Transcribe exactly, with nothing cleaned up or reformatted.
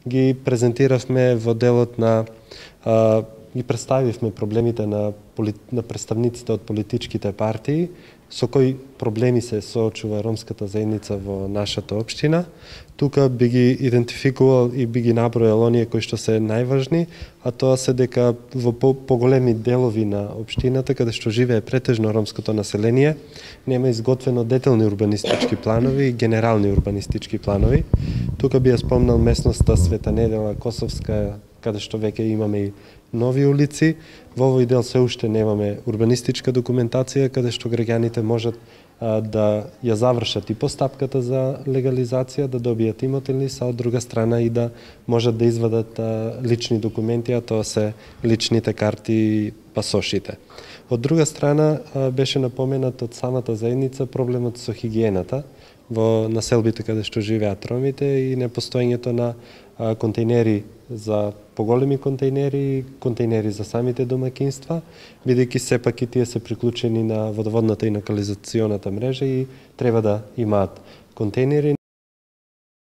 ги презентиравме во делот на а, ги представивме проблемите на, на представниците од политичките партии, со кои проблеми се соочува ромската заедница во нашата општина. Тука би ги идентификувал и би ги набројал оние кои што се најважни, а тоа се дека во поголеми делови на општината, каде што живее претежно ромското население, нема изготвено детални урбанистички планови и генерални урбанистички планови. Тука би ја спомнал местноста Света Недела, Косовска, каде што веќе имаме и нови улици. Во овој дел се уште немаме урбанистичка документација, каде што граѓаните можат а, да ја завршат и постапката за легализација, да добијат имотен лист, а од друга страна и да можат да извадат а, лични документи, а тоа се личните карти и пасошите. Од друга страна а, беше напоменат од самата заедница проблемот со хигиената во населбите каде што живеат ромите и непостоењето на а, контейнери за поголеми контейнери, контейнери за самите домакинства, бидејќи сепак и тие се приклучени на водоводната и на канализационата мрежа и треба да имаат контейнери.